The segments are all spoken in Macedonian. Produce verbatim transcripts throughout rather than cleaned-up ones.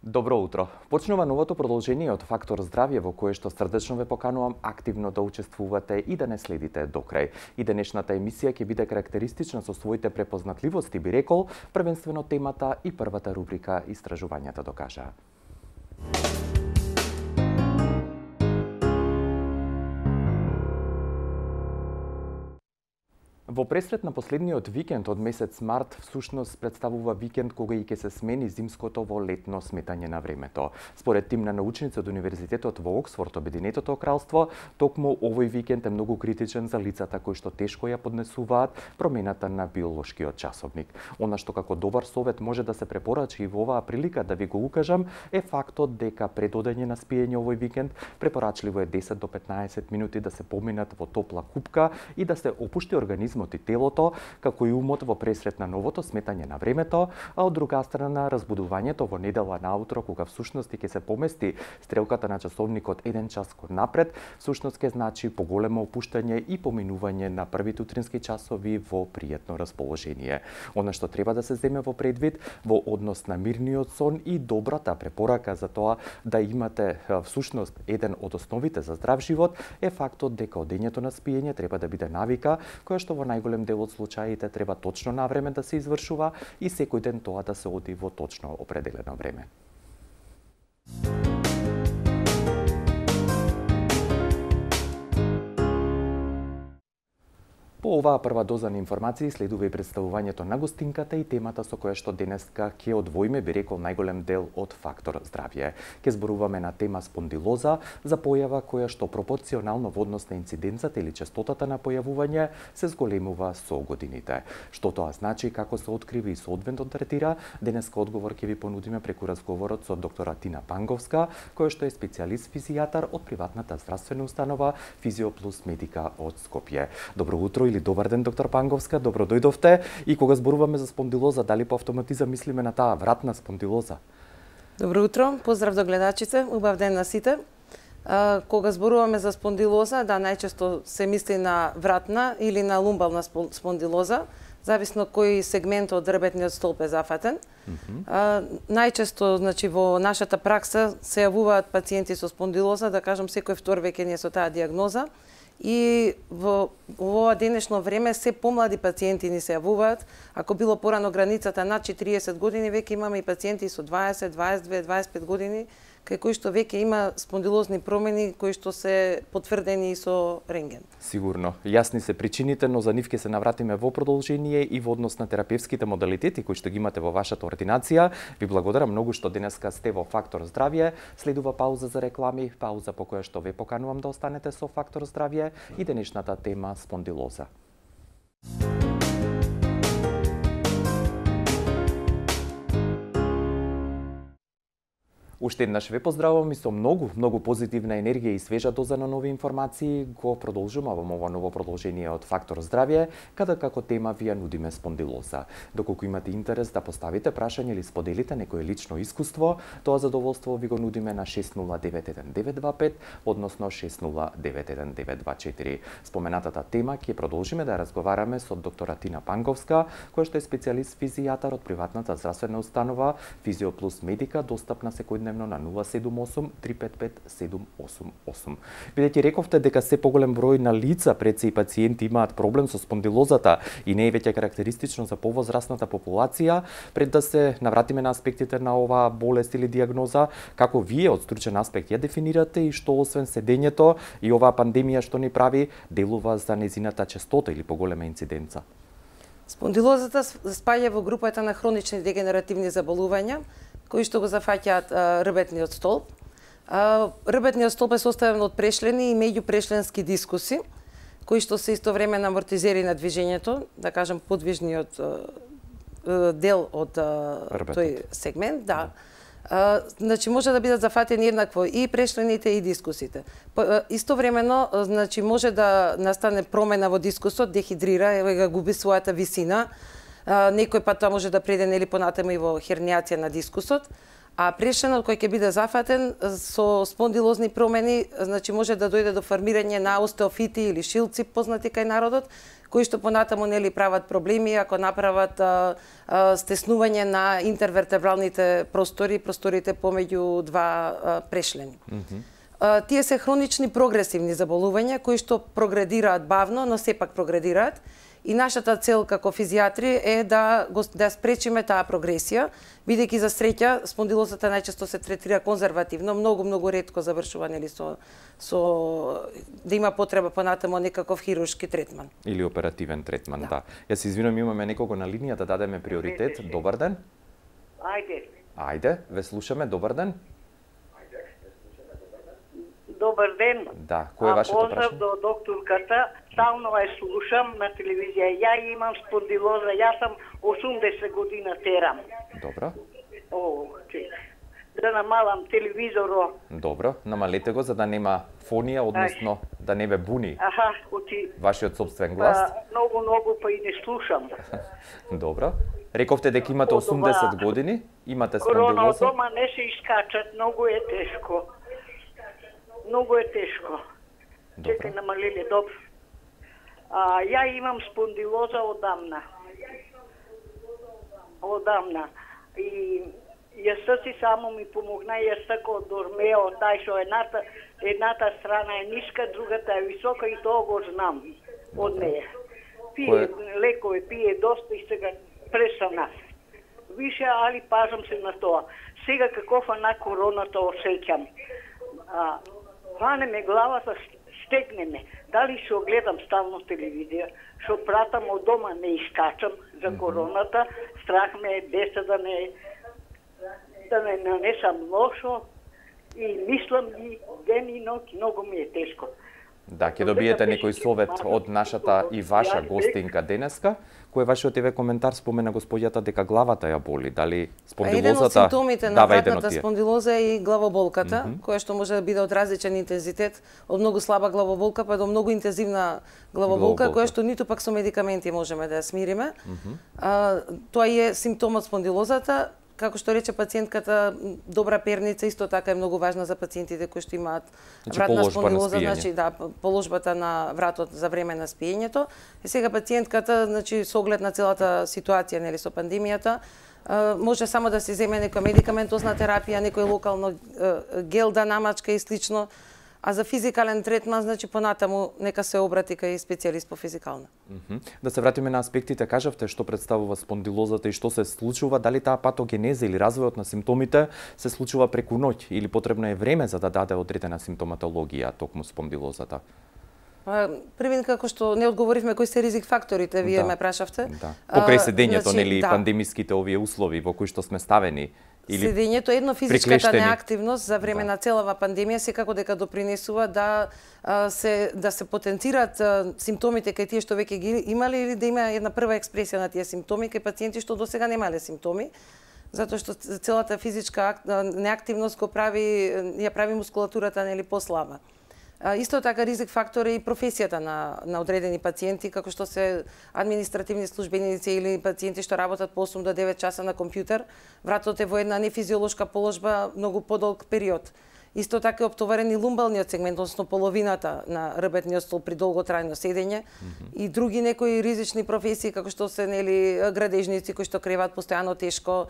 Добро утро. Почнува новото продолжение од Фактор здравје во кое што срдечно ве поканувам активно да учествувате и да не следите до крај. И денешната емисија ќе биде карактеристична со своите препознатливости, би рекол, првенствено темата и првата рубрика Истражувањата докажаа. Во пресрет на последниот викенд од месец март, всушност представува викенд кога и ќе се смени зимското во летно сметање на времето. Според тим на научници од Универзитетот во Оксфорд, Обединетото кралство, токму овој викенд е многу критичен за лицата кои што тешко ја поднесуваат промената на биолошкиот часовник. Она што како добар совет може да се препорачи и во оваа прилика да ви го укажам е фактот дека пред одење на спиење овој викенд препорачливо е десет до петнаесет минути да се поминат во топла купка и да се опушти организмот и телото, како и умот во пресрет на новото сметање на времето, а од друга страна разбудувањето во недела наутро, кога всушност ќе се помести стрелката на часовникот еден час кон напред, всушност ќе значи поголемо опуштање и поминување на првите утрински часови во пријатно расположение. Она што треба да се земе во предвид во однос на мирниот сон и добрата препорака за тоа да имате всушност еден од основите за здрав живот е фактот дека одењето на спиење треба да биде навика која што во најголем дел од случаите треба точно на време да се извршува и секој ден тоа да се оди во точно определено време. По оваа прва доза на информации следува и представувањето на гостинката и темата со која што денеска ќе одвоиме, би рекол, најголем дел од Фактор здравје. Ќе зборуваме на тема спондилоза, за појава која што пропорционално во однос на инциденцата или честотата на појавување се зголемува со годините. Што тоа значи, како се открива и се одвентно третира, денеска одговор ќе ви понудиме преку разговорот со доктора Тина Панговска, која што е специјалист физијатар од приватната здравствена установа Физиоплус Медика од Скопје. Добро утро или добар ден, доктор Панговска, добро дојдовте. И кога зборуваме за спондилоза, дали по автоматизам мислиме на таа вратна спондилоза? Добро утро, поздрав до гледачите, убав ден на сите. А, кога зборуваме за спондилоза, да, најчесто се мисли на вратна или на лумбална спондилоза, зависно кој сегмент од ребетниот столб е зафатен. Mm -hmm. а, најчесто, значи, во нашата пракса се јавуваат пациенти со спондилоза, да кажам, секој втор веќе ние со таа диагноза. И во, во ова денешно време се помлади пациенти ни се јавуваат. Ако било порано границата над четириесет години, веќе имаме и пациенти со дваесет, дваесет две, дваесет пет години, кај кои што веќе има спондилозни промени кои што се потврдени со рентген. Сигурно. Јасни се причините, но за нив ќе се навратиме во продолжение и во однос на терапевските модалитети кои што ги имате во вашата ординација. Ви благодарам многу што денеска сте во Фактор здравје. Следува пауза за реклами, пауза по која што ве поканувам да останете со Фактор здравје и денешната тема спондилоза. Уште еднаш ве поздравувам и со многу, многу позитивна енергија и свежа доза на нови информации го продолжуваме ова ново продолжение од Фактор здравје, каде како тема ви ја нудиме спондилоза. Доколку имате интерес да поставите прашање или споделите некое лично искуство, тоа задоволство ви го нудиме на шест нула девет еден девет два пет, односно шест нула девет еден девет два четири. Споменатата тема ќе продолжиме да разговараме со доктора Тина Панговска, која што е специјалист физијатар од приватната здравствена установа Физиоплус Медика, достапна секој на нула седум осум три пет пет седум осум осум. Бидејќи рековте дека се поголем број на лица пред се и пациенти имаат проблем со спондилозата и не е веќе карактеристично за повозрасната популација, пред да се навратиме на аспектите на оваа болест или диагноза, како вие од стручен аспект ја дефинирате и што освен седењето и оваа пандемија што ни прави, делува за незината честота или поголема инциденца? Спондилозата спаѓа во групата на хронични дегенеративни заболувања, кои што го зафаќаат ребетниот столб. А, ребетниот столб е составен од прешлени и меѓупрешленски дискуси, кои што се истовремено амортизери на движењето, да кажам подвижниот дел од тој сегмент, да. А, значи може да бидат зафатени еднакво и прешлените и дискусите. Истовремено, значи може да настане промена во дискусот, дехидрира, ева губи својата висина. Uh, некој пат тоа може да преде нели понатаму и во хернијација на дискусот, А прешленот кој ќе биде зафатен со спондилозни промени, значи може да дојде до формирање на остеофити или шилци познати кај народот, кои што понатаму нели прават проблеми ако направат а, а, стеснување на интервертебралните простори, просторите помеѓу два а, прешлени. Mm -hmm. а, тие се хронични прогресивни заболувања кои што прогредираат бавно, но сепак прогредираат. И нашата цел како физијатри е да го да спречиме таа прогресија, бидејќи за среќа спондилозата најчесто се третира конзервативно, многу многу ретко завршува нели со со да има потреба понатаму некаков хируршки третман или оперативен третман, да. да. Јас се извинувам, имаме некого на линија да дадеме приоритет. Добар ден. Ајде. Ајде, ве слушаме. Добар ден. Добар ден. Да, кој е вашето прашање? Поздрав до докторката. Стално ја слушам на телевизија. Ја имам спондилоза. Јас сум осумдесет година терам. Добро. О, чек. Да намалам телевизоро. Добро, намалете го за да нема фонија, односно Ај. да не ве буни. Аха, оти. Вашиот собствен глас. А, многу, многу па и не слушам. Добро. Рековте дека имате осумдесет години, имате спондилоза. Корона од дома не се искачат, многу е тешко. Многу е тешко. Чекај, намалиле, добро. А, ја имам спондилоза одамна. Одамна. И јас си само ми помогна, јас тако дормео, тај што едната, едната страна е ниска, другата е висока и тоа го знам од неја. Пие Кое... лекови, пие доста и сега престана. Више, али пазам се на тоа. Сега каков на короната осеќам. А, Хване ме главата, стегне ме. Дали што гледам стално телевизија, што пратам од дома, не искачам за короната, страх ме е деца да не да не нанесам лошо и мислам ги ден и ноќ, многу ми е тешко. Да, ќе добиете некој совет од нашата и ваша гостинка денеска. Кој е вашиот еве коментар? Спомена господјата дека главата ја боли. Дали спондилозата? Еден од симптомите на вратната спондилоза е и главоболката, mm -hmm. која што може да биде од различен интензитет, од многу слаба главоболка па до многу интензивна главоболка, главоболка. Која што ниту пак со медикаменти можеме да ја смириме. Mm -hmm. а, тоа е симптомот спондилозата. Како што рече пациентката, добра перница исто така е многу важна за пациентите кои што имаат значи, вратна спондилоза, значи да, положбата на вратот за време на спиењето. И сега пациентката, значи со оглед на целата ситуација нели со пандемијата, може само да се земе некоја медикаментозна терапија, некој локално гел да намачка и слично. А за физикален третман, значи понатаму нека се обрати кај специјалист по физикална. Mm -hmm. Да се вратиме на аспектите, кажавте што представува спондилозата и што се случува, дали таа патогенеза или развојот на симптомите се случува преку ноќ или потребно е време за да даде одредена симптоматологија токму спондилозата? Првин, како што не одговоривме кои се ризик факторите, вие да. ме прашавте. Да. Покрај седењето, значи, нели, да. пандемиските овие услови во кои што сме ставени, или седењето, едно физичката неактивност за време да. на целава пандемија секако дека допринесува да се да се потенцираат симптомите кај тие што веќе ги имале или да има една прва експресија на тие симптоми кај пациенти што досега немале симптоми, затоа што целата физичка неактивност го прави ја прави мускулатурата нели послаба. Исто така ризик фактор е и професијата на на одредени пациенти, како што се административни службеници или пациенти што работат по осум до девет часа на компјутер, вратот е во една нефизиолошка положба многу подолг период. Исто така е оптоварен и лумбалниот сегмент, односно половината на рбетниот стол при долготрајно седење, mm -hmm. и други некои ризични професии како што се нели градежници кои што креваат постојано тешко,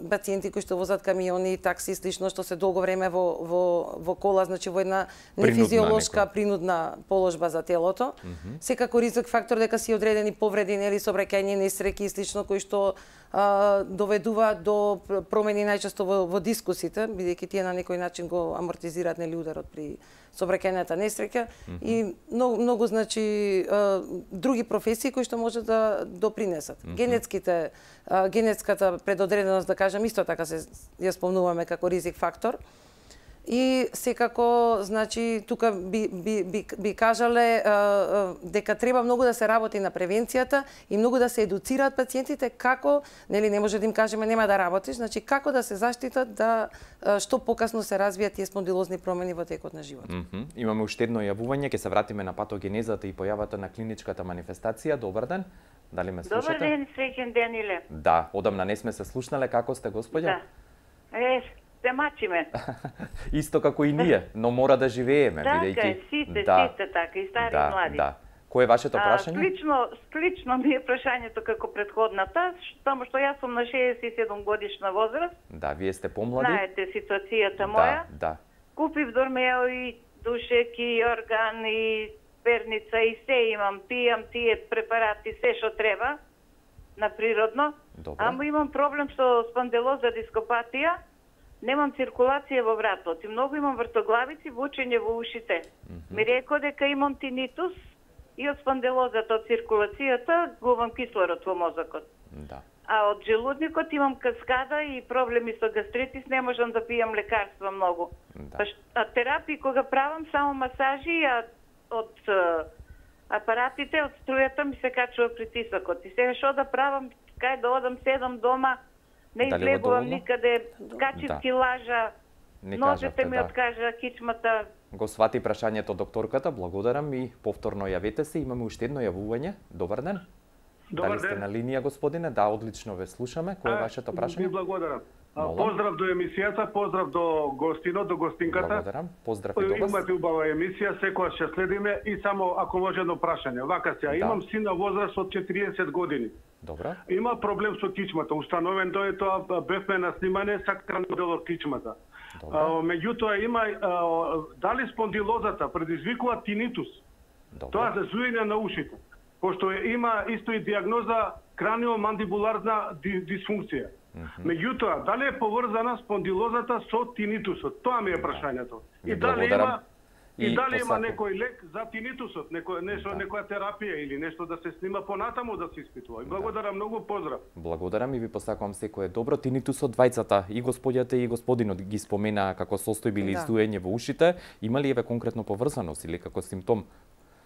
пациенти кои што возат камиони, такси и слично, што се долго време во во во кола, значи во една нефизиолошка принудна положба за телото. Mm -hmm. Секако ризик фактор дека си одредени повреди нели сообраќајни несреќи и слично кои што доведува до промени најчесто во, во дискусите, бидејќи тие на некој начин го амортизираат нели ударот при сообраќајната несреќа, mm -hmm. и многу, многу значи други професии кои што може да допринесат. Mm -hmm. Генетските генетската предодреденост, да кажам, исто така се ја спомнуваме како ризик фактор. И секако, значи, тука би, би, би, би кажале а, а, дека треба многу да се работи на превенцијата и многу да се едуцираат пациентите како, нели не може да им кажеме нема да работиш, значи како да се заштитат да а, што покасно се развијат тие спондилозни промени во текот на животот. Mm -hmm. Имаме уште едно јавување, ќе се вратиме на патогенезата и појавата на клиничката манифестација. Добар ден. Дали ме слушате? Добар ден, среќен ден, Иле. Да, одамна не сме се слушнале, како сте, господја? Да. Е, се мачиме. Исто како и ние, но мора да живееме, така бидејќи е, сите, да, сите така, и стари да, и млади. Да. Кое е вашето прашање? А, слично, слично ми е прашањето како претходната, само што јас сум на шеесет и седум годишна возраст. Да, вие сте помлади. Знаете ситуацијата моја. Да, да. Купив дормео и душек и орган и перница и се имам, пијам тие препарати, се што треба на природно. Добре. Ама имам проблем со спондилоза дископатија, немам циркулација во вратот и многу имам вртоглавици, вучење во ушите. Mm -hmm. Ми рекол дека имам тинитус и од спондилозата, од циркулацијата, губам кислород во мозокот. Да. А од желудникот имам каскада и проблеми со гастритис, не можам да пијам лекарства многу. Да. А терапии кога правам само масажи, а од апаратите, од струјата ми се качува притисокот. И сега што да правам, кај да одам, седам дома, не Дали излегувам доволно? никаде, качив Да. килажа, Не ножете кажавте, ми да. откажа кичмата. Го свати прашањето докторката, благодарам и повторно јавете се. Имаме уште едно јавување. Добар ден. Добар Дали сте ден. на линија, господине? Да, одлично ве слушаме. Кој е вашето Ви прашање? благодарам. А, Молам. Поздрав до емисијата, поздрав до гостинот, до гостинката. Благодарам. Поздрав и до вас. Имате убава емисија, секоја ќе следиме и само ако може едно прашање. Вака се, Да. имам син на возраст од четириесет години. Добра. Има проблем со кичмата. Установен тој тоа, бевме на снимање сакран дел од кичмата. Добра. А, меѓутоа има а, дали спондилозата предизвикува тинитус? Добра. Тоа се зуење на ушите. Пошто има исто и диагноза краниомандибуларна дисфункција. Mm -hmm. Меѓутоа, дали е поврзана спондилозата со тинитусот? Тоа ми е прашањето. Ви И дали благодарам. има и, И дали има посако. некој лек за тинитусот, некој нешто, Да. некоја терапија или нешто да се снима понатаму да се испитува. И благодарам многу, поздрав. Благодарам и ви посакувам секое добро. Тинитусот, двајцата, и господјата и господинот ги споменаа како состојби или Да. издуење во ушите. Има ли еве конкретно поврзаност или како симптом?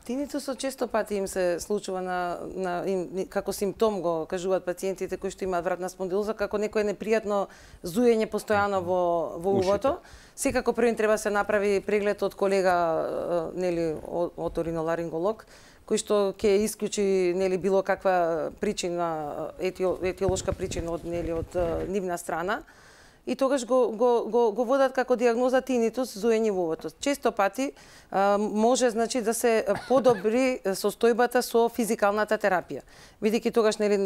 Тинитусот често пати им се случува на, на им, како симптом го кажуваат пациентите кои што имаат вратна спондилоза, како некое непријатно зуење постојано во во увото. Секако прво им треба се направи преглед од колега, нели, оториноларинголог, кој што ќе исклучи, нели, било каква причина, етиолошка причина од, нели, од нивна страна. И тогаш го, го, го, го водат како диагноза тинитус, зуење во увото. Често пати а, може, значи, да се подобри состојбата со физикалната терапија. Бидејќи тогаш, нели,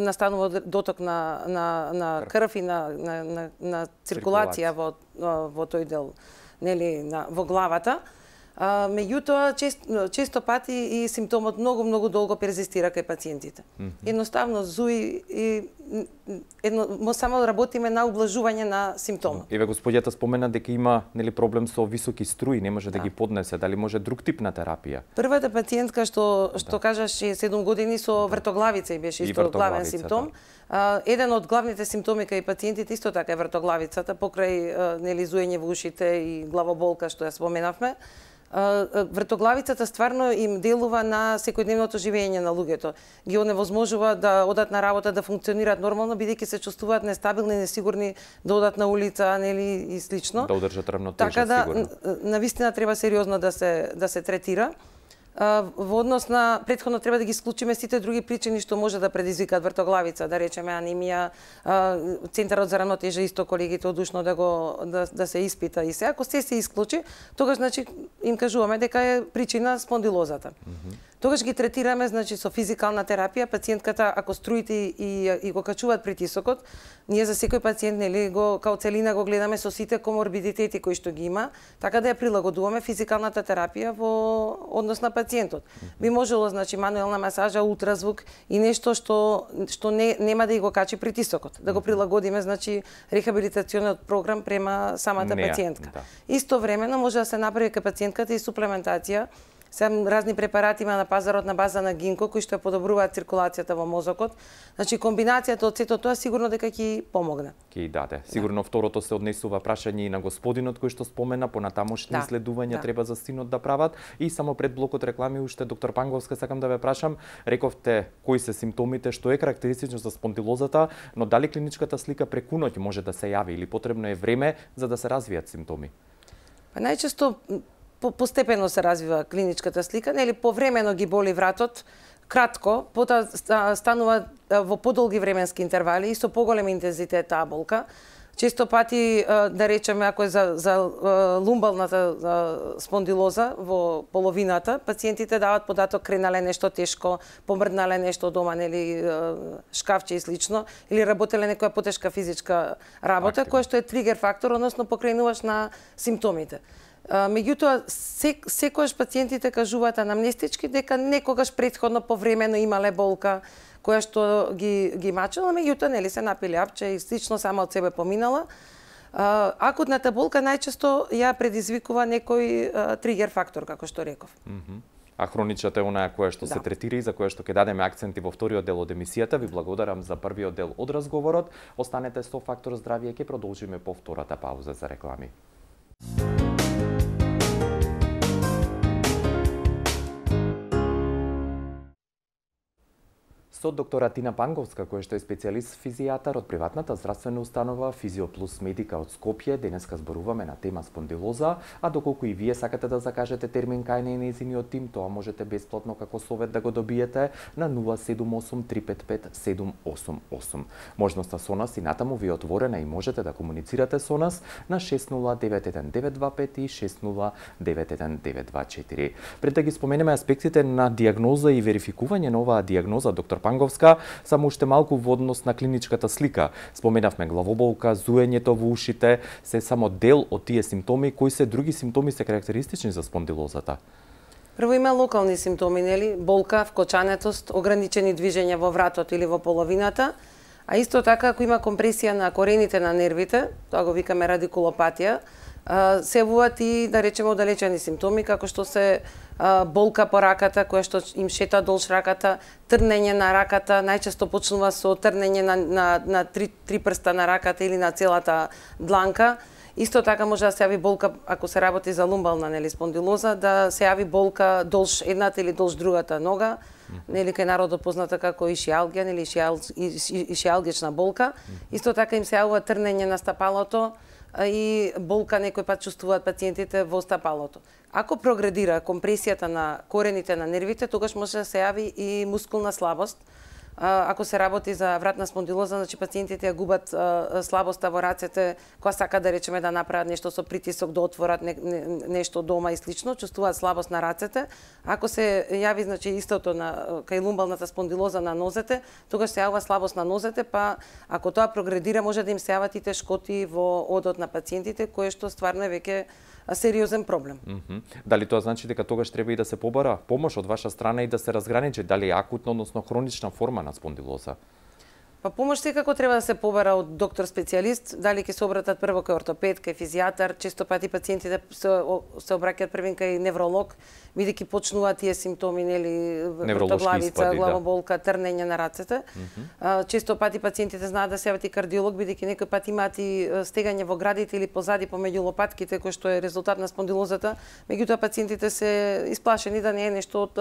настанува доток на, на, на крв и на, на, на, на циркулација во, во тој дел, нели, на, во главата. А, меѓутоа, често, често пати и симптомот многу, многу долго перзистира кај пациентите. Mm -hmm. Едноставно, зуи и едно, мо само работиме на ублажување на симптомот. Еве господјата спомена дека има, нели, проблем со високи струи, не може да, Да. ги поднесе. Дали може друг тип на терапија? Првата пациентка што што Да. кажаше седум години со вртоглавица и беше И исто главен вртоглавица, симптом. А, еден од главните симптоми кај пациентите исто така е вртоглавицата, покрај а, нели зуење во ушите и главоболка што ја споменавме. Вртоглавицата стварно им делува на секојдневното живење на луѓето. Ги оневозможува да одат на работа, да функционираат нормално, бидејќи се чувствуваат нестабилни, несигурни да одат на улица, нели, и слично. Да одржат равнотежа, така да, сигурно. навистина треба сериозно да се да се третира. Во однос на претходно треба да ги исклучиме сите други причини што може да предизвикаат вртоглавица, да речеме анемија, Центарот за равнотежа исто колегите одушно да го да, да се испита и се. Ако се се исклучи, тогаш значи им кажуваме дека е причина спондилозата. Mm -hmm. Тогаш ги третираме значи со физикална терапија, пациентката ако струите и, и го качуваат притисокот, ние за секој пациент нели го као целина го гледаме со сите коморбидитети кои што ги има, така да ја прилагодуваме физикалната терапија во однос на пациентот. Би можело значи мануелна масажа, ултразвук и нешто што што не нема да и го качи притисокот, да го прилагодиме значи рехабилитациониот програм према самата Неа, пациентка. да. Истовремено може да се направи кај пациентката и суплементација. Сам разни препарати има на пазарот на база на гинко кои што подобруваат циркулацијата во мозокот. Значи комбинацијата од сето тоа сигурно дека ќе помогне. Ќе даде. Сигурно да. Второто се однесува прашање и на господинот кој што спомена, понатамошни Да, исследувања да. треба за синот да прават. И само пред блокот реклами уште доктор Панговска сакам да ве прашам, рековте кои се симптомите, што е карактеристично за спондилозата, но дали клиничката слика преку ноќ може да се јави или потребно е време за да се развијат симптоми? Па најчесто постепено се развива клиничката слика, нели повремено ги боли вратот, кратко, потоа станува во подолги временски интервали и со поголем интензитет таа болка. Често пати, да речеме, ако е за, за лумбалната спондилоза во половината, пациентите дават податок кренале нешто тешко, помрднале нешто дома, нели шкафче и слично, или работеле некоја потешка физичка работа, која што е тригер фактор, односно покренуваш на симптомите. Меѓутоа, сек, секојаш пациентите кажуваат анамнестички дека некогаш претходно повремено имале болка, која што ги, ги мачела, меѓутоа, нели, се напили апче и слично сама од себе поминала. Акутната болка најчесто ја предизвикува некој а, тригер фактор, како што реков. Mm -hmm. А хроничната е онаа која што да. се третира и за која што ќе дадеме акценти во вториот дел од емисијата. Ви благодарам за првиот дел од разговорот. Останете со Фактор здравје, ќе продолжиме по втората пауза за реклами. Со доктора Тина Панговска, која што е специјалист физијатар од приватната здравствена установа Физиоплус Медика од Скопје, денеска зборуваме на тема спондилоза, а доколку и вие сакате да закажете термин кај нејзиниот тим, тоа можете бесплатно како совет да го добиете на нула седум осум три пет пет седум осум осум. Можноста со нас и натаму ви е отворена и можете да комуницирате со нас на шест нула девет еден девет два пет и шест нула девет еден девет два четири. Пред да ги споменеме аспектите на диагноза и верификување на оваа диагноза, доктор Панговска, само уште малку во однос на клиничката слика. Споменавме главоболка, зуењето во ушите, се само дел од тие симптоми. Кои се други симптоми се карактеристични за спондилозата? Прво има локални симптоми, нели? Болка, вкочанетост, ограничени движења во вратот или во половината, а исто така ако има компресија на корените на нервите, тоа го викаме радикулопатија, се явуваат и, да речеме, оддалечени симптоми, како што се болка по раката, која што им шета долж раката, трнење на раката, најчесто почнува со трнење на, на, на три, три прста на раката или на целата дланка. Исто така може да се јави болка, ако се работи за лумбална, нели, спондилоза, да се јави болка долж едната или долж другата нога, нели, кај народот позната како ишиалгија, нели, ишиал, ишиалгична болка. Исто така им се јавува трнење на стапалото, и болка некој пат чувствуваат пациентите во стапалото. Ако прогредира компресијата на корените на нервите, тогаш може да се јави и мускулна слабост. Ако се работи за вратна спондилоза, значи пациентите ја губат слабоста во рацете, кога сака да речеме да направат нешто со притисок, да отворат не, не, нешто дома и слично, чувствуваат слабост на рацете. Ако се јави, значи, истото на кај лумбалната спондилоза на нозете, тогаш се јавува слабост на нозете, па ако тоа прогредира, може да им се јават и тешкоти во одот на пациентите, кое што стварно е веќе сериозен проблем. Mm -hmm. Дали тоа значи дека тогаш треба и да се побара помош од ваша страна и да се разграничи дали е акутна, односно хронична форма на спондилоза? Па помош секако треба да се побара од доктор специјалист, дали ќе се обратат прво кај ортопед, кај физијатар, често пати пациентите се, се обраќаат првен кај невролог, бидејќи почнуваат тие симптоми, нели, вртоглавица, главоболка, да. Трнење на рацете. Mm -hmm. Често пати пациентите знаат да се јават и кардиолог, бидејќи некој пат имаат и стегање во градите или позади помеѓу лопатките, кој што е резултат на спондилозата, меѓутоа пациентите се исплашени да не е нешто од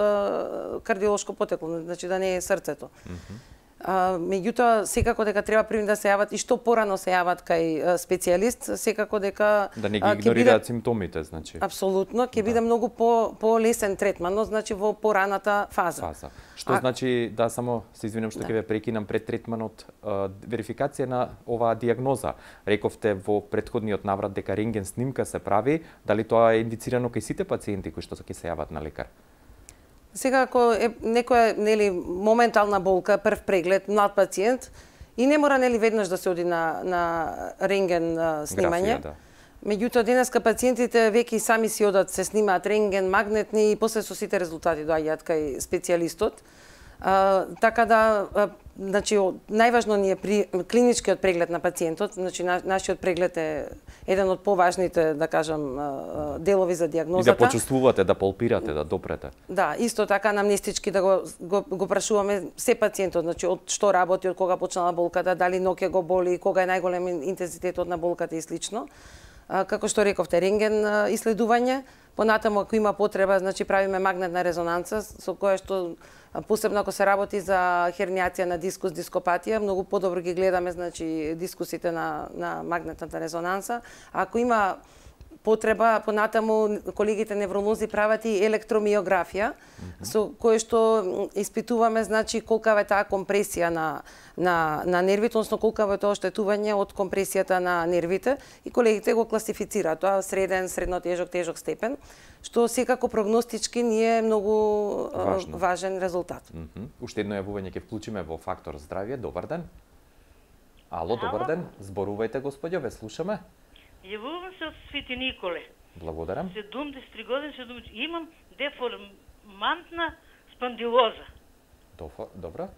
кардиолошко потекло, значи да не е срцето. Mm -hmm. А, меѓутоа, секако дека треба први да се јават и што порано се јават кај специјалист, секако дека да не ги игнорираат биде... симптомите, значи. Апсолутно, ќе да. биде многу по по лесен третман, но значи во пораната фаза. Фаза. Што а... значи, да, само се извинам што ќе да. ве прекинам пред третманот, а, верификација на оваа диагноза. Рековте во претходниот наврат дека рентген снимка се прави, дали тоа е индицирано кај сите пациенти кои што ќе се јават на лекар? Сега, ако е некоја, нели, моментална болка, прв преглед, млад пациент, и не мора, нели, веднаш да се оди на, на рентген снимање. Графија, да. Меѓутоа, денеска пациентите веќе сами си одат, се снимаат рентген, магнетни и после со сите резултати доаѓаат кај специјалистот. А, така да, а, значи, најважно ни е при клиничкиот преглед на пациентот, значи на, нашиот преглед е еден од поважните, да кажам, делови за диагнозата. И да почувствувате, да палпирате, да допрете. Да, исто така анамнестички да го, го, го прашуваме се пациентот, значи од што работи, од кога почнала болката, дали ноќе го боли, кога е најголем интензитетот на болката и слично. А, како што рековте, рентген исследување, понатаму ако има потреба, значи правиме магнетна резонанца со која што посебно ако се работи за хернијација на дискус, дископатија, многу подобро ги гледаме, значи, дискусите на, на магнетната резонанса. А ако има потреба, понатаму колегите невролози прават и електромиографија, mm -hmm. со кое што испитуваме, значи, колкава е таа компресија на, на, на нервите, односно колкава е тоа оштетување од компресијата на нервите, и колегите го класифицираат тоа среден, средно тежок, тежок степен, што секако прогностички ни е многу Важно. важен резултат. Mm -hmm. Уште едно јавување ќе вклучиме во Фактор здравје. Добар ден. Ало, добар ден. Зборувајте, господјо, ве слушаме. Јавувам се од Свети Николе. Благодарам. седумдесет и три години, седумдесет имам деформантна спондилоза. Добро.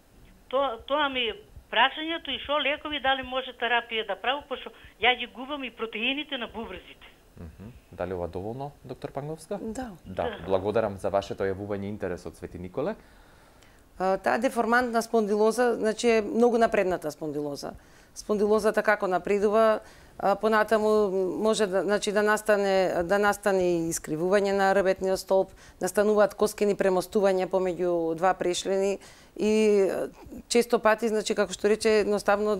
Тоа, тоа ми е прашањето и шо лекови, дали може терапија да прави, пошто ја ги губам и протеините на бубрезите. Mm -hmm. Дали ова доволно, доктор Панговска? Да. Да, благодарам за вашето јавување и интерес од Свети Николе. Таа деформантна спондилоза, значи, е многу напредната спондилоза. Спондилозата како напредува, понатаму може да, значи, да настане да настане искривување на ребетниот столб, настануваат коскени премостувања помеѓу два прешлени и често пати, значи, како што рече, едноставно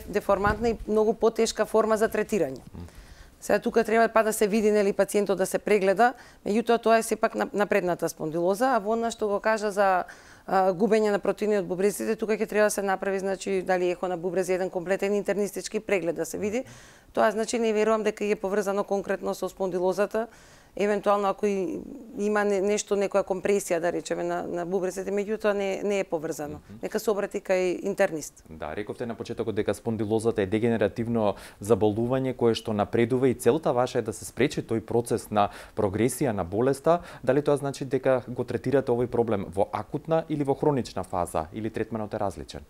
деформантна и многу потешка форма за третирање. Сега тука треба па да се види, нели, пациентот да се прегледа, меѓутоа тоа е сепак напредната спондилоза, а во она што го кажа за а, губење на протеини од бубрезите, тука ќе треба да се направи, значи, дали ехо на бубрези, еден комплетен интернистички преглед да се види. Тоа, значи, не верувам дека е поврзано конкретно со спондилозата, евентуално ако има нешто, некоја компресија, да речеме, на, на бубрезите, меѓутоа не, не е поврзано. Mm -hmm. Нека се обрати кај интернист. Да, рековте на почетокот дека спондилозата е дегенеративно заболување кое што напредува и целта ваша е да се спречи тој процес на прогресија на болеста. Дали тоа значи дека го третирате овој проблем во акутна или во хронична фаза, или третманот е различен?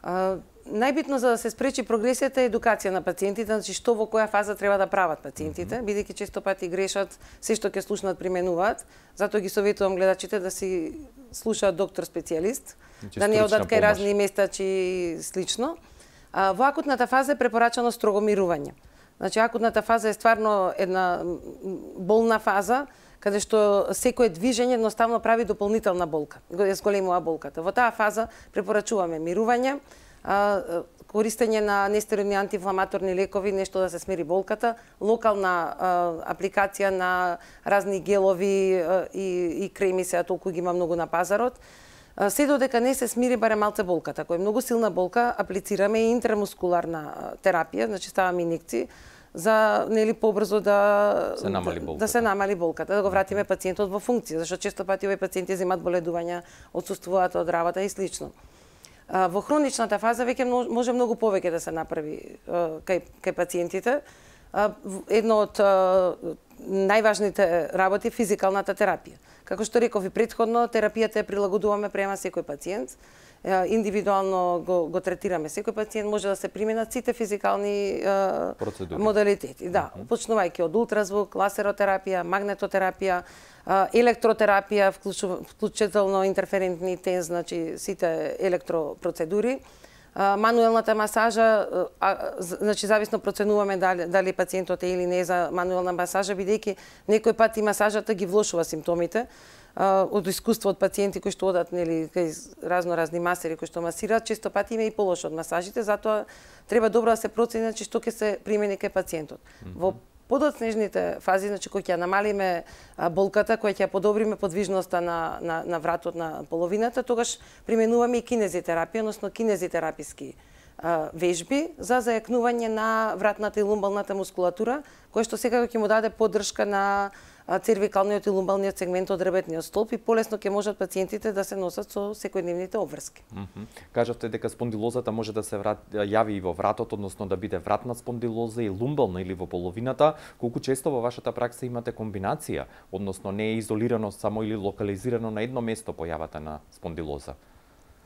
А, најбитно за да се спречи прогресијата е едукација на пациентите, значи што во која фаза треба да прават пациентите, mm -hmm. бидејќи често пати грешат, се што ќе слушнат применуваат. Затоа ги советувам гледачите да си слушаат доктор специјалист, значи, да не одат кај разни местачи и слично. А, во акутната фаза е препорачано строго мирување. Значи, акутната фаза е стварно една болна фаза, каде што секое движење едноставно прави дополнителна болка, го зголемува болката. Во таа фаза препорачуваме мирување, користење на нестероидни антиинфламаторни лекови, нешто да се смири болката, локална апликација на разни гелови и, и креми, сега толку ги има многу на пазарот. Се додека не се смири барем малце болката. Кој е многу силна болка, аплицираме и интрамускуларна терапија, значи ставаме инекции, за, нели, побрзо да се намали болката. Да се намали болката, да го вратиме пациентот во функција, зашто често пати овој пациенти земат боледувања, отсуствуваат од работа и слично. Во хроничната фаза веќе може многу повеќе да се направи кај, кај пациентите. Едно од најважните работи е физикалната терапија. Како што реков и претходно, терапијата ја прилагодуваме према секој пациент. Индивидуално го, го третираме секој пациент, може да се применат сите физикални процедури, модалитети. Да, mm -hmm. почнувајќи од ултразвук, ласеротерапија, магнетотерапија, електротерапија, вклучително интерферентни тенз, значи сите електропроцедури. Мануелната масажа, значи зависно проценуваме дали, дали пациентот е или не за мануелна масажа, бидејќи некој пат и масажата ги влошува симптомите. Од искуство од пациенти кои што одат, нели, кај разно разни масери кои што масираат, често пати има и полошо од масажите, затоа треба добро да се процени, значи, што ќе се примени кај пациентот. Mm -hmm. Во подоцнежните фази, значи, кој ќе намалиме болката, кој ќе подобриме подвижноста на, на, на вратот на половината, тогаш применуваме и кинезитерапија, односно кинезитераписки а, вежби за зајакнување на вратната и лумбалната мускулатура, кој што секако ќе му даде поддршка на цервикалниот и лумбалниот сегмент од ребетниот столб и полесно ќе можат пациентите да се носат со секојдневните обврски. Mm -hmm. Кажавте дека спондилозата може да се врат, јави и во вратот, односно да биде вратна спондилоза и лумбална или во половината. Колку често во вашата пракса имате комбинација, односно не е изолирано само или локализирано на едно место појавата на спондилоза?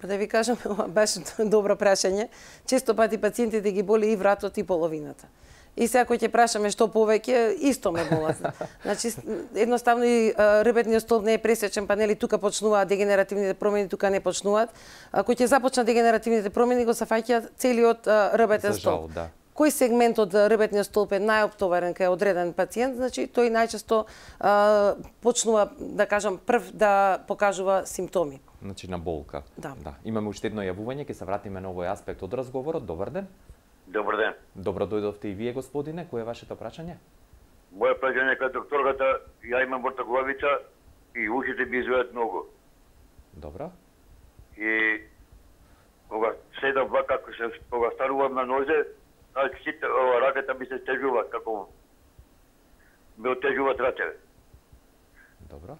Да ви кажам, баш добро прашање. Често пати пациентите ги боли и вратот и половината. И сега кој ќе прашаме што повеќе, исто ме болат. Значи, едноставно и ребетниот столб не е пресечен, па нели тука почнуваат дегенеративните промени, тука не почнуваат. А кој ќе започнат дегенеративните промени, го сафаќаат целиот ребетен столб. Да. Кој сегмент од ребетниот столб е најоптоварен кај одреден пациент, значи тој најчесто а, почнува, да кажам, прв да покажува симптоми. Значи на болка. Да. Да. Имаме уште едно јавување, ќе се вратиме на овој аспект од разговорот. Добар ден. Добар ден. Добро дојдовте и вие, господине. Кој е вашето прашање? Моја прашање кај докторката, ја имам вртоглавица и ушите ми изгледат многу. Добро. И кога седам вака, како се кога станувам на нозе, значи сите ова раката ми се стежува, како ме отежуваат рацете. Добро.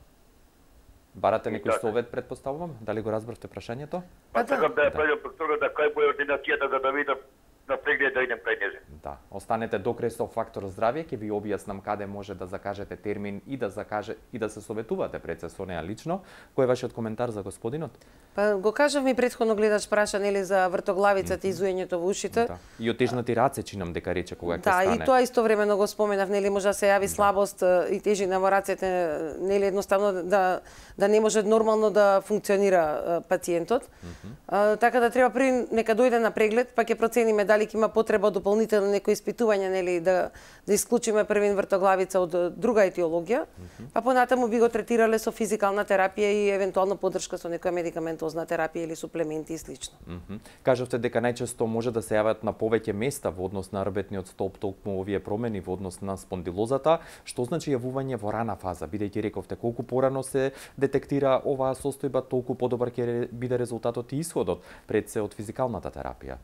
Барате некој совет, предпоставувам? Дали го разбравте прашањето? Па сакам да ја прашам докторката кај му е ординацијата за да видам на преглед да идем кај незе. Да, останете до крај со фактор здравје, ќе ви објаснам каде може да закажете термин и да закаже и да се советувате пред се со неа лично. Кој е вашиот коментар за господинот? Па го кажав ми претходно гледач праша нели за вртоглавицата и зуењето во ушите. Да. И отежнати раце чинам дека рече кога ќе да, стане. Да, и тоа истовремено го споменав, нели може да се јави слабост и тежина во рацете, нели едноставно да да не може нормално да функционира пациентот. Mm -hmm. а, така да треба први нека дојде на преглед, па ќе процениме дали ќе има потреба од дополнително некои испитувања, нели да да исклучиме првин вртоглавица од друга етиологија, mm -hmm. па понатаму би го третирале со физикална терапија и евентуално поддршка со некоја медикаментозна терапија или суплементи и слично. Mm -hmm. Кажавте дека најчесто може да се јават на повеќе места во однос на рбетниот столб толку овие промени во однос на спондилозата, што значи јавување во рана фаза, бидејќи рековте колку порано се детектира оваа состојба, толку подобар ќе биде резултатот и исходот пред се од физикалната терапија.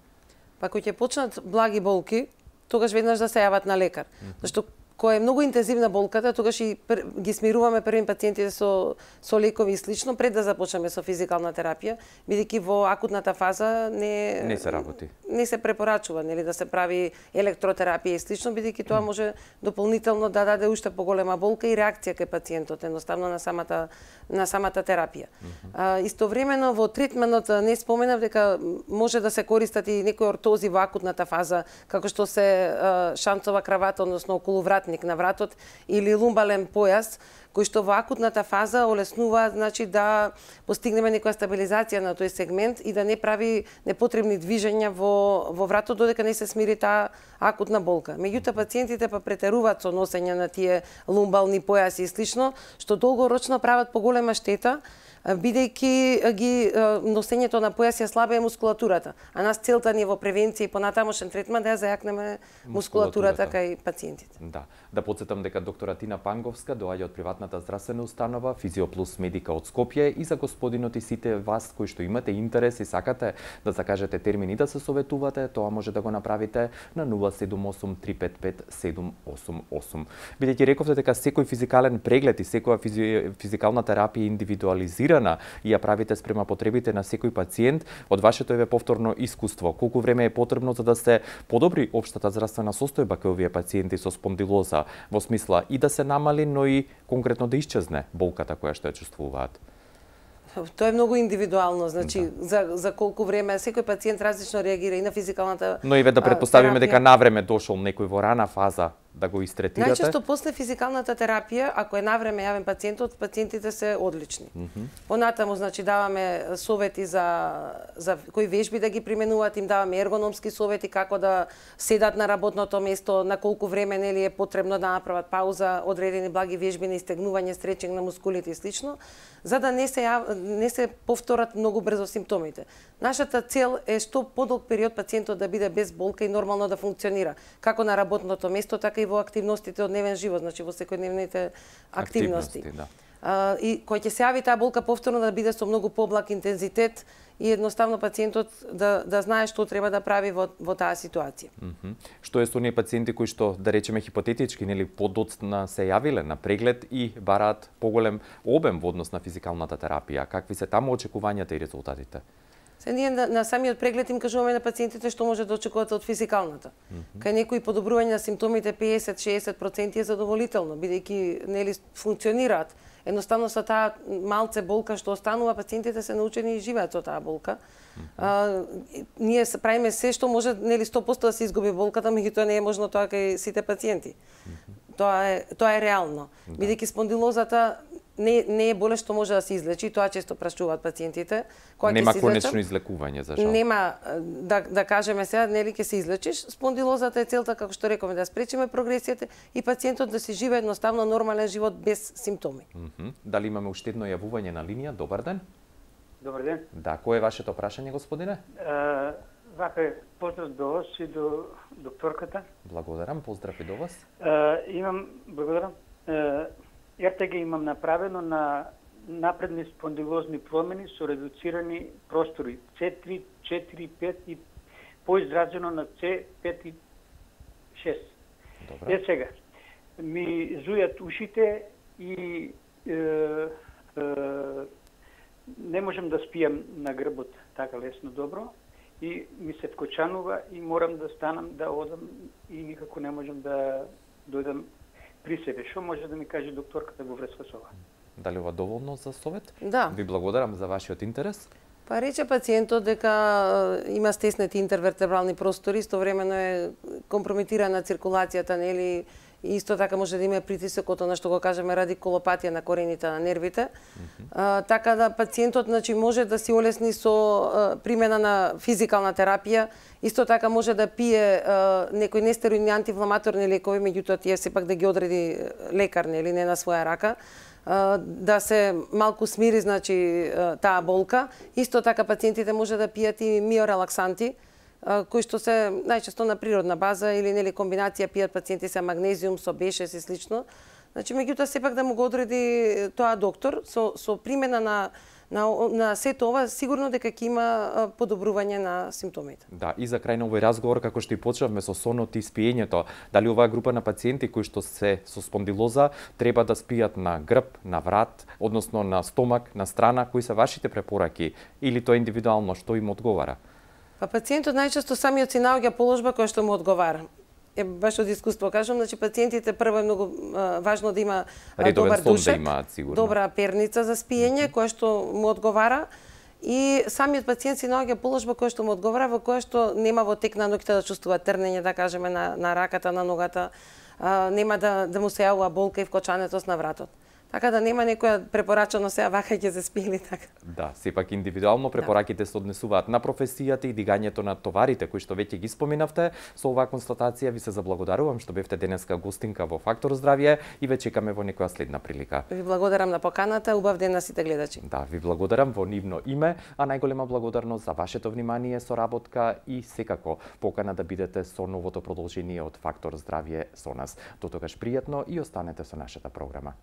Па кога ќе почнат благи болки, тогаш веднаш да се јават на лекар. Mm -hmm. Зашто кога е многу интензивна болката, тогаш и пр... ги смируваме првим пациентите со со лекови и слично пред да започнеме со физикална терапија, бидејќи во акутната фаза не не се работи. Не се препорачува, нели да се прави електротерапија и слично, бидејќи тоа може дополнително да даде уште поголема болка и реакција кај пациентот, едноставно на самата на самата терапија. Mm -hmm. а, истовремено во третманот не споменав дека може да се користат и некои ортози во акутната фаза, како што се а, шанцова кравата, односно околувратник на вратот или лумбален појас, кои што во акутната фаза олеснуваат, значи да постигнеме некоја стабилизација на тој сегмент и да не прави непотребни движења во во вратот додека не се смири таа акутна болка. Меѓутоа пациентите па претеруваат со носење на тие лумбални појаси и слично, што долгорочно прават поголема штета, бидејќи ги носењето на појас ја слабее мускулатурата, а нас целта ни е во превенција и понатамошен третман да ја зајакнеме мускулатурата кај пациентите. Да, да потсетам дека доктора Тина Панговска доаѓа од приватната здравствена установа Физиоплус Медика од Скопје и за господинот и сите вас кои што имате интерес и сакате да закажете термини да се советувате, тоа може да го направите на нула седум осум три пет пет седум осум осум. Бидејќи рековте дека секој физикален преглед и секоја физи... физикална терапија индивидуализирана и ја правите спрема потребите на секој пациент, од вашето еве повторно искуство, колку време е потребно за да се подобри општата здравствена состојба кај овие пациенти со спондилоза, во смисла и да се намали, но и конкретно да исчезне болката која што ја чувствуваат? Тоа е многу индивидуално, значи да. за за колку време секој пациент различно реагира и на физикалната. Но и ве да претпоставиме дека навреме дошол некој во рана фаза да го истретирате. Најчесто после физикалната терапија, ако е навреме јавен пациентот, пациентите се одлични. Mm -hmm. Понатаму значи даваме совети за за кои вежби да ги применуваат, им даваме ергономски совети како да седат на работното место, на колку време нели е потребно да направат пауза, одредени благи вежби на истегнување, стречинг на мускулите и слично, за да не се јав... не се повторат многу брзо симптомите. Нашата цел е што подолг период пациентот да биде без болка и нормално да функционира, како на работното место, така и во активностите од дневен живот, значи во секојдневните активности. активности да. а, и кој ќе се јави таа болка повторно да биде со многу поблак интензитет и едноставно пациентот да да знае што треба да прави во во таа ситуација. Mm -hmm. Што е со оние пациенти кои што, да речеме хипотетички, нели подоцна се јавиле на преглед и бараат поголем обем во однос на физикалната терапија? Какви се таму очекувањата и резултатите? Се ние на, на самиот преглед им кажуваме на пациентите што може да очекувате од физикалната. Mm -hmm. Кај некои подобрување на симптомите педесет до шеесет проценти е задоволително, бидејќи нели функционираат. Едноставно со таа малце болка што останува, пациентите се научени и живеат со таа болка. Mm -hmm. а, ние правиме се што може нели сто проценти да се изгуби болката, меѓутоа не е можно тоа кај сите пациенти. Mm -hmm. Тоа е тоа е реално. Да. Бидејќи спондилозата не не е болест што може да се излечи, тоа често прашуваат пациентите. Кога нема конечно излекување за жал. Нема да да кажеме сега нели ќе се излечиш. Спондилозата е целта, како што рековме, да спречиме прогресијата и пациентот да си живее едноставно нормален живот без симптоми. Mm -hmm. Дали имаме уште едно јавување на линија? Добар ден. Добар ден. Да, кој е вашето прашање, господине? Uh, вака е, поздрав до вас и до докторката. Благодарам, поздрав и до вас. Е, имам, благодарам, е, ер те ге имам направено на напредни спондилозни промени со редуцирани простори С три, четири, пет и поизразено на С пет и шест. Добра. Е сега, ми зујат ушите и е, е, не можам да спијам на грбот така лесно добро и ми се вкочанува и морам да станам да одам и никако не можам да дојдам при себе. Што може да ми каже докторката во врска со ова? Дали ова доволно за совет? Да. Ви благодарам за вашиот интерес. Па рече пациентот дека има стеснети интервертебрални простори, истовремено е компрометирана циркулацијата, нели, и исто така може да има притисокот, на што го кажеме радикулопатија на корените на нервите. Mm -hmm. а, така да пациентот, значи, може да си олесни со а, примена на физикална терапија, исто така може да пие а, некои нестероидни антиинфламаторни лекови, меѓутоа тие сепак да ги одреди лекар, нели, не на своја рака, да се малку смири, значи, таа болка. Исто така пациентите може да пијат и миорелаксанти, кои што се најчесто на природна база или нели комбинација пијат пациенти со магнезиум, со бешес и слично. Значи, меѓутоа сепак да му го одреди тоа доктор со со примена на на на сето ова, сигурно дека ќе има подобрување на симптомите. Да, и за крај на овој разговор, како што и почнавме со сонот и спиењето, дали оваа група на пациенти кои што се со спондилоза треба да спијат на грб, на врат, односно на стомак, на страна, кои се вашите препораки или тоа индивидуално што им одговара? Па пациентот најчесто самиот си наоѓа положба која што му одговара. Е, баш од искуство кажам, значи пациентите прво е многу а, важно да има а, добар душек, да имаат, добра перница за спиење, mm -hmm. која што му одговара, и самиот пациент си наоѓа положба која што му одговара, во која што нема во тек на ноќта да чувствува трнење, да кажеме, на, на раката, на ногата, а, нема да, да му се јавува болка и вкочанетост на вратот. Така да нема некоја препорачано сега вака ќе се спи или така. Да, сепак индивидуално препораките се однесуваат на професијата и дигањето на товарите кои што веќе ги споминавте. Со оваа констатација ви се заблагодарувам што бевте денеска гостинка во Фактор здравје и ве чекаме во некоја следна прилика. Ви благодарам на поканата, убав ден на сите гледачи. Да, ви благодарам во нивно име, а најголема благодарност за вашето внимание, соработка и секако покана да бидете со новото продолжение од Фактор здравје со нас. До тогаш пријатно и останете со нашата програма.